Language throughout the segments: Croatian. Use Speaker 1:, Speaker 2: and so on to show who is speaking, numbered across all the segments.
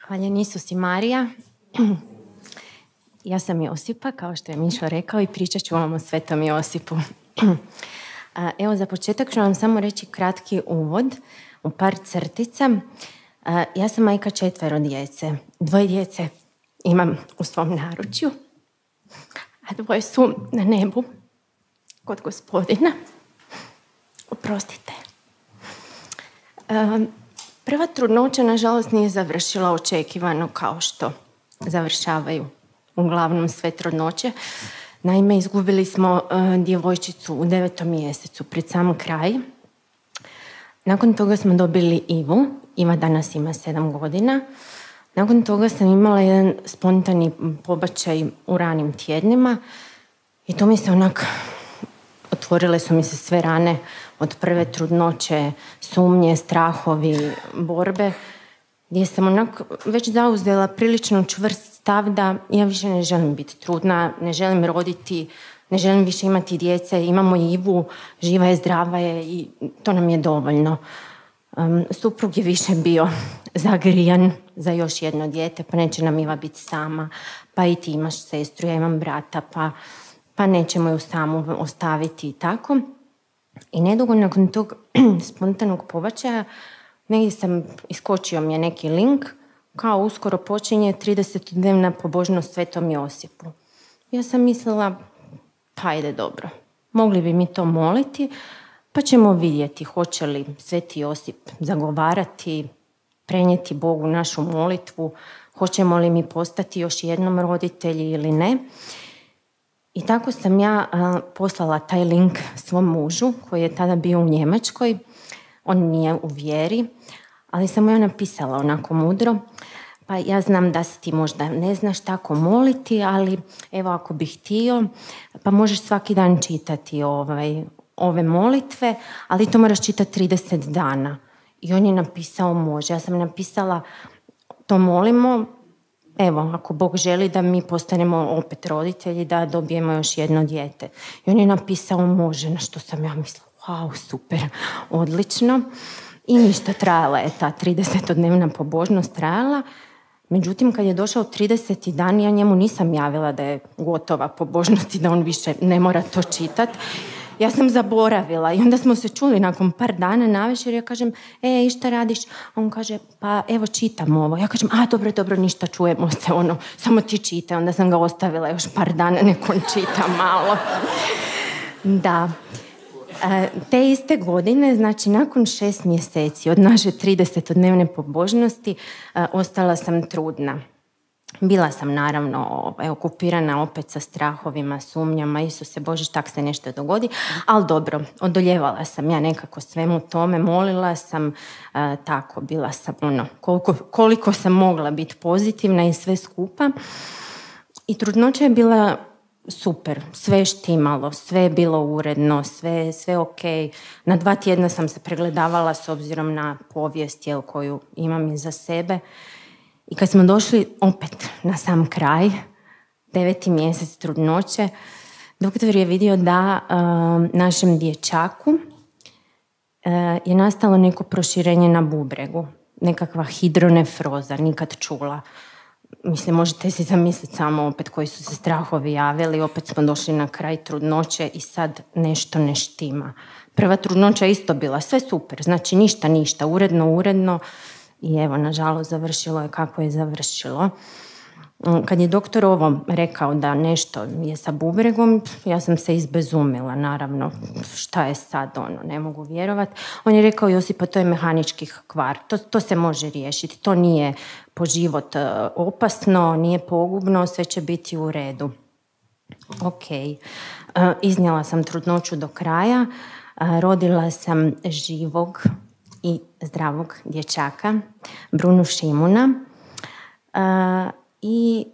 Speaker 1: Hvaljen Isus i Marija. Ja sam Josipa, kao što je Mišo rekao, i pričat ću vam o Svetom Josipu. Evo, za početak ću vam samo reći kratki uvod u par crtica. Ja sam majka 4 djece. 2 djece imam u svom naručju, a 2 su na nebu kod Gospodina. Oprostite. Prva trudnoća, nažalost, nije završila očekivano kao što završavaju uglavnom sve trudnoće. Naime, izgubili smo djevojčicu u 9. mjesecu, pred sam kraj. Nakon toga smo dobili Ivu. Iva danas ima 7 godina. Nakon toga sam imala jedan spontani pobačaj u ranim tjednima i to mi se otvorile su mi se sve rane od prve trudnoće, sumnje, strahovi, borbe, gdje sam već zauzela prilično čvrst stav da ja više ne želim biti trudna, ne želim roditi, ne želim više imati djece, imamo Ivu, živa je, zdrava je i to nam je dovoljno. Suprug je više bio zagrijan za još jedno dijete, pa neće nam Iva biti sama, pa i ti imaš sestru, ja imam brata, pa nećemo ju samu ostaviti i tako. I nedugo nakon tog spontanog pobačaja negdje iskočio mi je neki link kao uskoro počinje 30-dnevna pobožnost Svetom Josipu. Ja sam mislila, pa ide dobro, mogli bi mi to moliti, pa ćemo vidjeti hoće li Sveti Josip zagovarati, prenijeti Bogu našu molitvu, hoćemo li mi postati još jednom roditelji ili ne. I tako sam ja poslala taj link svom mužu koji je tada bio u Njemačkoj. On nije u vjeri, ali sam mu ja napisala onako mudro. Pa ja znam da se ti možda ne znaš tako moliti, ali evo ako bih htio, pa možeš svaki dan čitati ove molitve, ali to moraš čitati 30 dana. I on je napisao može. Ja sam napisala to molimo, evo, ako Bog želi da mi postanemo opet roditelji, da dobijemo još jedno dijete. I on je napisao može, na što sam ja mislila, wow, super, odlično. I ništa, trajala je ta 30-dnevna pobožnost, trajala. Međutim, kad je došao 30. dan, ja njemu nisam javila da je gotova pobožnost i da on više ne mora to čitati. Ja sam zaboravila i onda smo se čuli nakon par dana navečer. Ja kažem, i šta radiš? A on kaže, pa evo čitam ovo. Ja kažem, dobro, ništa, čujemo se, samo ti čitaj. Onda sam ga ostavila još par dana, nek on čita malo. Da. Te iste godine, znači nakon 6 mjeseci od naše 30-dnevne pobožnosti, ostala sam trudna. Bila sam naravno okupirana opet sa strahovima, sumnjama, Isuse Bože, tak se nešto dogodi, ali dobro, odoljevala sam ja nekako svemu tome, molila sam, tako, bila sam koliko sam mogla biti pozitivna i sve skupa. I trudnoća je bila super, sve štimalo, sve je bilo uredno, sve ok. Na 2 tjedna sam se pregledavala s obzirom na povijest koju imam iza sebe. I kad smo došli opet na sam kraj, 9. mjesec trudnoće, doktor je vidio da našem dječaku je nastalo neko proširenje na bubregu, nekakva hidronefroza, nikad čula. Mislim, možete si zamisliti samo opet koji su se strahovi javili, opet smo došli na kraj trudnoće i sad nešto ne štima. Prva trudnoća isto bila, sve super, znači ništa, uredno, i evo, nažalost, završilo je kako je završilo. Kad je doktor ovo rekao da nešto je sa bubregom, ja sam se izbezumila, naravno, šta je sad, ne mogu vjerovati. On je rekao, Josipa, to je mehanički kvar, to se može riješiti, to nije po život opasno, nije pogubno, sve će biti u redu. Ok, iznijela sam trudnoću do kraja, rodila sam živog i zdravog dječaka, Brunu Šimuna, i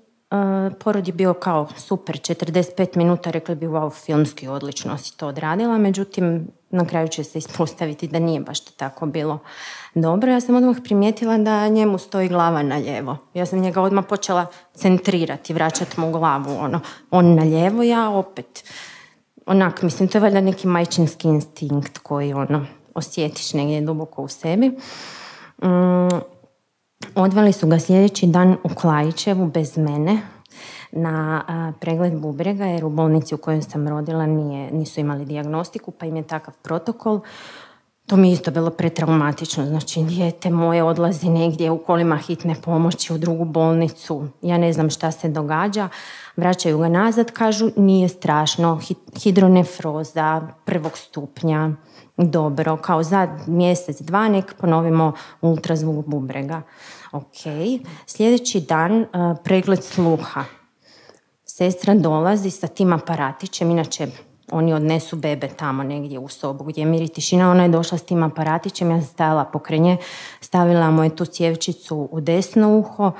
Speaker 1: porod je bio kao super, 45 minuta, rekli bi wow, filmski odlično si to odradila, međutim na kraju će se ispostaviti da nije baš tako bilo dobro. Ja sam odmah primijetila da njemu stoji glava na lijevo. Ja sam njega odmah počela centrirati, vraćati mu glavu, on na lijevo, ja opet. Mislim, to je valjda neki majčinski instinkt koji osjetiš negdje duboko u sebi. Odveli su ga sljedeći dan u Klajićevu bez mene na pregled bubrega, jer u bolnici u kojoj sam rodila nisu imali dijagnostiku, pa im je takav protokol. To mi je isto bilo pretraumatično, znači dijete moje odlazi negdje u kolima hitne pomoći u drugu bolnicu, ja ne znam šta se događa, vraćaju ga nazad, kažu nije strašno, hidronefroza 1. stupnja, dobro, kao za mjesec, 2 nek ponovimo ultrazvuk bubrega. Ok, sljedeći dan pregled sluha. Sestra dolazi sa tim aparatićem, inače oni odnesu bebe tamo negdje u sobu gdje je mir i tišina, ona je došla s tim aparatićem, ja sam stajala pokraj nje, stavila mu je tu cjevčicu u desno uho,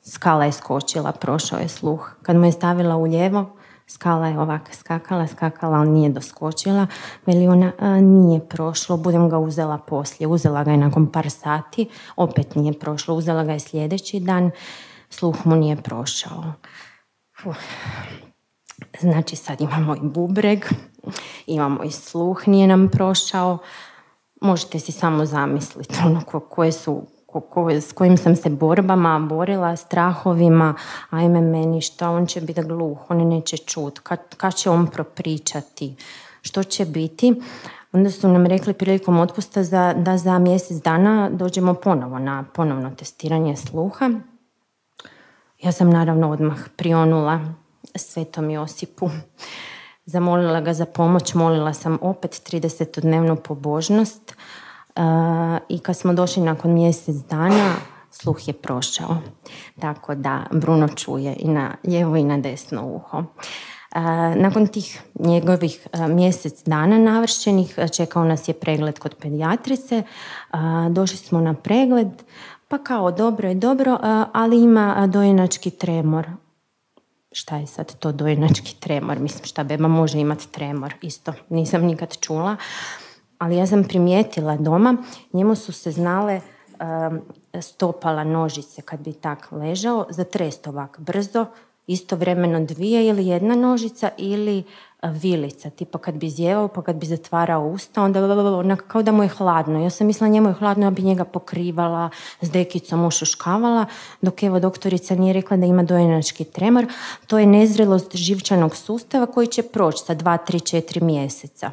Speaker 1: skala je skočila, prošao je sluh. Kad mu je stavila u lijevo, skala je ovako skakala, ali nije doskočila. Veli ona, nije prošlo, budem ga uzela poslije. Uzela ga je nakon par sati, opet nije prošlo. Uzela ga je sljedeći dan, sluh mu nije prošao. Znači sad imamo i bubreg, imamo i sluh, nije nam prošao. Možete si samo zamisliti s kojim sam se borbama borila, strahovima, ajme meni šta, on će biti gluh, on neće čut, kad će on propričati, što će biti. Onda su nam rekli prilikom otpusta da za mjesec dana dođemo ponovo na ponovno testiranje sluha. Ja sam naravno odmah prionula Svetom Josipu. Zamolila ga za pomoć, molila sam opet 30-dnevnu pobožnost i kad smo došli nakon mjesec dana, sluh je prošao. Tako da Bruno čuje i na lijevo i na desno uho. Nakon tih njegovih mjesec dana navršenih čekao nas je pregled kod pedijatrice. Došli smo na pregled, pa kao dobro je dobro, ali ima dojenački tremor. Šta je sad to dojenački tremor? Mislim, šta beba može imati tremor? Isto nisam nikad čula. Ali ja sam primijetila doma, njemu su se znale stopala nožice kad bi tak ležao, zatrest ovak brzo, istovremeno 2 ili 1 nožica ili vilica, tipa kad bi zjevao pa kad bi zatvarao usta, onda kao da mu je hladno. Ja sam mislila njemu je hladno, ja bi njega pokrivala, s dekicom ušuškavala, dok evo doktorica nije rekla da ima dojenački tremor. To je nezrelost živčanog sustava koji će proći sa 2, 3, 4 mjeseca.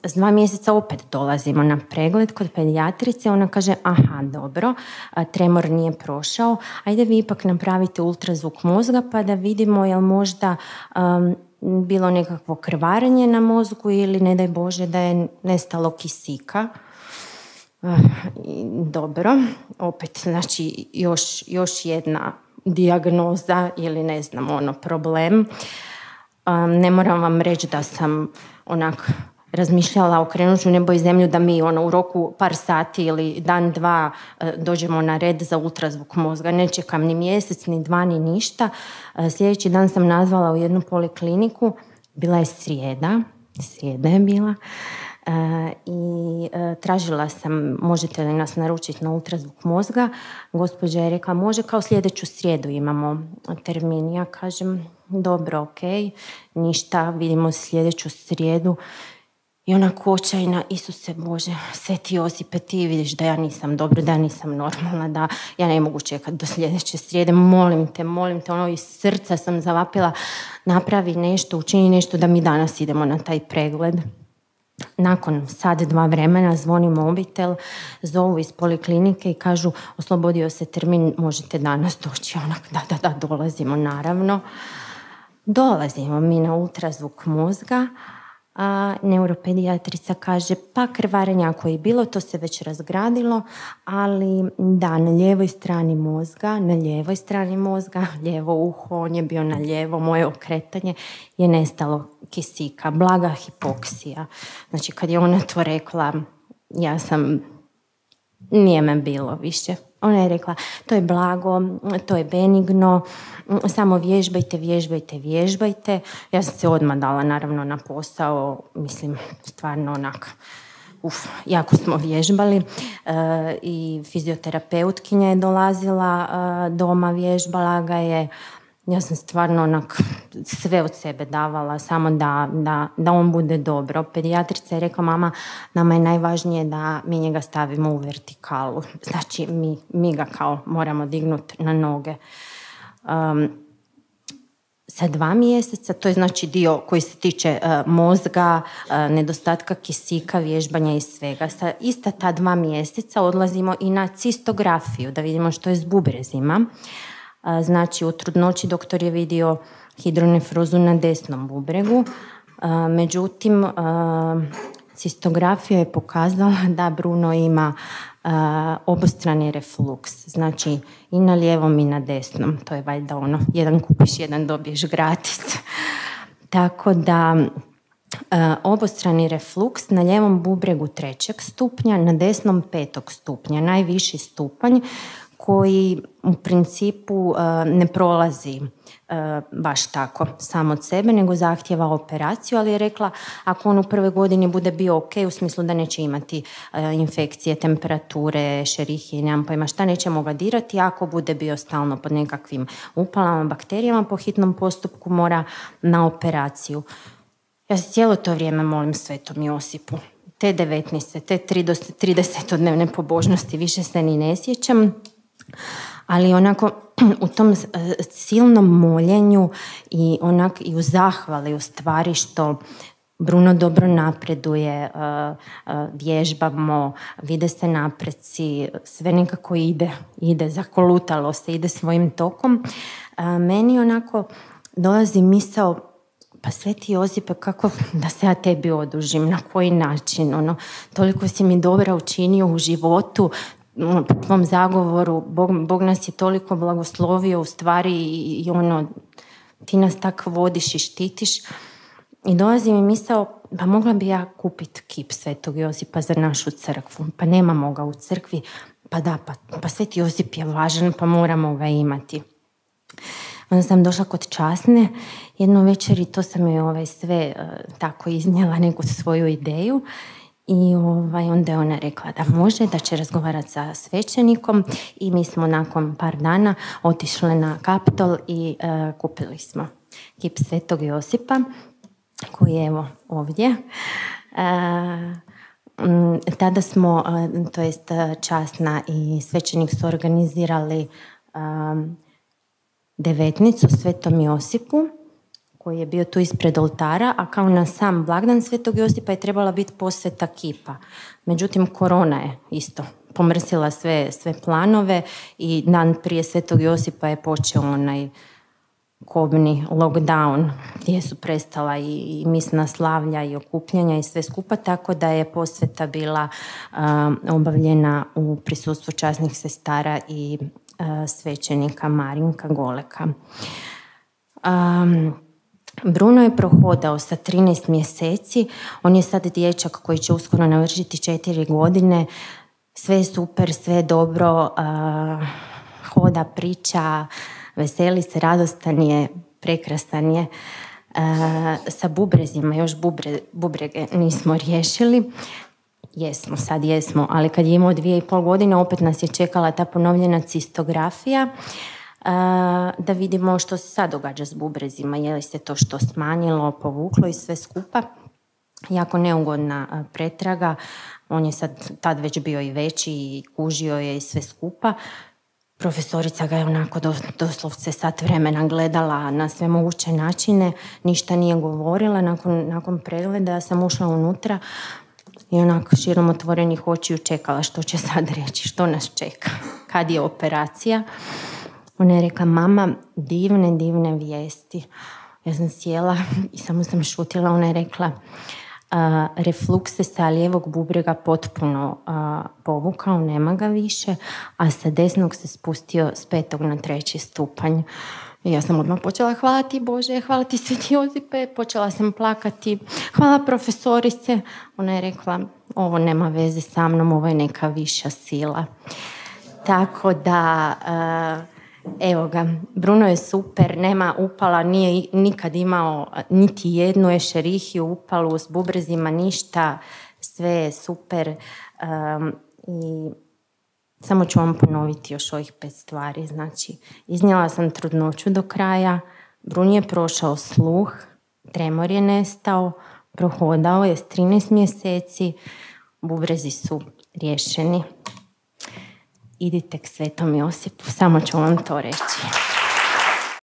Speaker 1: S 2 mjeseca opet dolazimo na pregled kod pedijatrice, ona kaže aha dobro, tremor nije prošao, ajde vi ipak napravite ultrazvuk mozga pa da vidimo jel možda bilo nekakvo krvarenje na mozgu ili ne daj Bože da je nestalo kisika. Dobro, opet znači još jedna dijagnoza ili ne znam problem. Ne moram vam reći da sam onak razmišljala okrenut ću nebo i zemlju da mi u roku par sati ili dan, 2 dođemo na red za ultrazvuk mozga. Ne čekam ni mjesec, ni 2, ni ništa. Sljedeći dan sam nazvala u jednu polikliniku. Bila je srijeda je bila. I tražila sam možete li nas naručiti na ultrazvuk mozga. Gospođa je rekla može, kao sljedeću srijedu imamo termin. Ja kažem dobro, ok, ništa, vidimo sljedeću srijedu. I onako očajna, Isuse Bože, Sveti Josipe, ti vidiš da ja nisam dobro, da ja nisam normalna, da ja ne mogu čekati do sljedeće srijede, molim te, iz srca sam zavapila, napravi nešto, učini nešto da mi danas idemo na taj pregled. Nakon sat, 2 vremena zvoni mobitel, zovu iz poliklinike i kažu oslobodio se termin, možete danas doći. Onak, da, dolazimo naravno. Dolazimo mi na ultrazvuk mozga, a neuropedijatrica kaže pa krvarenja ako je bilo, to se već razgradilo, ali da, na lijevoj strani mozga, lijevo uho, on je bio na lijevo, moje okretanje, je nestalo kisika, blaga hipoksija. Znači kad je ona to rekla, nije me bilo više. Ona je rekla, to je blago, to je benigno, samo vježbajte. Ja sam se odmah dala naravno na posao, mislim, stvarno jako smo vježbali i fizioterapeutkinja je dolazila doma, vježbala ga je Ja sam stvarno onak sve od sebe davala, samo da on bude dobro. Pedijatrica je rekla, mama, nama je najvažnije da mi njega stavimo u vertikalu. Znači, mi ga kao moramo dignuti na noge. Sa 2 mjeseca, to je znači dio koji se tiče mozga, nedostatka kisika, vježbanja i svega. Sa ista ta 2 mjeseca odlazimo i na cistografiju, da vidimo što je s bubrezima. Znači, u trudnoći doktor je vidio hidronefrozu na desnom bubregu, međutim, cistografija je pokazala da Bruno ima obostrani refluks, znači i na lijevom i na desnom. To je valjda ono, jedan kupiš, jedan dobiješ gratis. Tako da obostrani refluks na lijevom bubregu 3. stupnja, na desnom 5. stupnja, najviši stupanj koji u principu ne prolazi baš tako sam od sebe, nego zahtjeva operaciju, ali je rekla ako on u prvoj godini bude bio ok, u smislu da neće imati infekcije, temperature, šerihije, nemam pojma šta, nećemo ga dirati, ako bude bio stalno pod nekakvim upalama, bakterijama, po hitnom postupku mora na operaciju. Ja se cijelo to vrijeme molim Svetom Josipu. Te 19, te 30-dnevne pobožnosti više se ni ne sjećam, ali onako u tom silnom moljenju i u zahvali u stvari što Bruno dobro napreduje, vježbamo, vide se napreci, sve nekako ide, zakolutalo se, ide svojim tokom. Meni onako dolazi misao, pa Sveti Josipe, kako da se ja tebi odužim, na koji način, toliko si mi dobra učinio u životu, po tvom zagovoru, Bog nas je toliko blagoslovio u stvari i ti nas tako vodiš i štitiš. I dolazi mi misao, pa mogla bi ja kupiti kip Svetog Josipa za našu crkvu, pa nemamo ga u crkvi, pa Sveti Josip je važan, pa moramo ga imati. Onda sam došla kod časne jednu večer i to sam joj sve tako iznijela neku svoju ideju. I onda je ona rekla da može, da će razgovarati sa svećenikom i mi smo nakon par dana otišli na Kaptol i kupili smo kip Svetog Josipa koji je evo ovdje. Tada smo, to jest časna i svećenik su organizirali devetnicu Svetom Josipu koji je bio tu ispred oltara, a kao na sam blagdan Svetog Josipa je trebala biti posveta kipa. Međutim, korona je isto pomrsila sve planove i dan prije Svetog Josipa je počeo onaj kobni lockdown gdje su prestala i misna slavlja i okupljanja i sve skupa, tako da je posveta bila obavljena u prisustvu časnih sestara i svećenika Marinka Goleka. Bruno je prohodao sa 13 mjeseci, on je sad dječak koji će uskoro navršiti 4 godine, sve je super, sve je dobro, hoda, priča, veseli se, radostan je, prekrasan je. Sa bubrezima, još bubrege nismo riješili. Sad jesmo, ali kad je imao 2,5 godine opet nas je čekala ta ponovljena cistografija da vidimo što se sad događa s bubrezima, je li se to što smanjilo, povuklo i sve skupa. Jako neugodna pretraga, on je tad već bio i veći i kužio je i sve skupa. Profesorica ga je onako doslovce sat vremena gledala na sve moguće načine, ništa nije govorila. Nakon pregleda sam ušla unutra i onako širom otvorenih očiju čekala što će sad reći, što nas čeka, kad je operacija. Ona je rekla, mama, divne vijesti. Ja sam sjela i samo sam šutila. Ona je rekla, refluks se sa lijevog bubrega potpuno povukao, nema ga više, a sa desnog se spustio s 5. na 3. stupanj. I ja sam odmah počela, hvala ti Bože, hvala ti Sveti Josipe, počela sam plakati, hvala profesorice. Ona je rekla, ovo nema veze sa mnom, ovo je neka viša sila. Tako da, evo ga, Bruno je super, nema upala, nije nikad imao niti jednu ešerihiju, upalu s bubrezima, ništa, sve je super. I Samo ću vam ponoviti još ovih 5 stvari. Znači, iznijela sam trudnoću do kraja, Brun je prošao sluh, tremor je nestao, prohodao je s 13 mjeseci, bubrezi su riješeni. Idite k Svetom Josipu, samo ću vam to reći.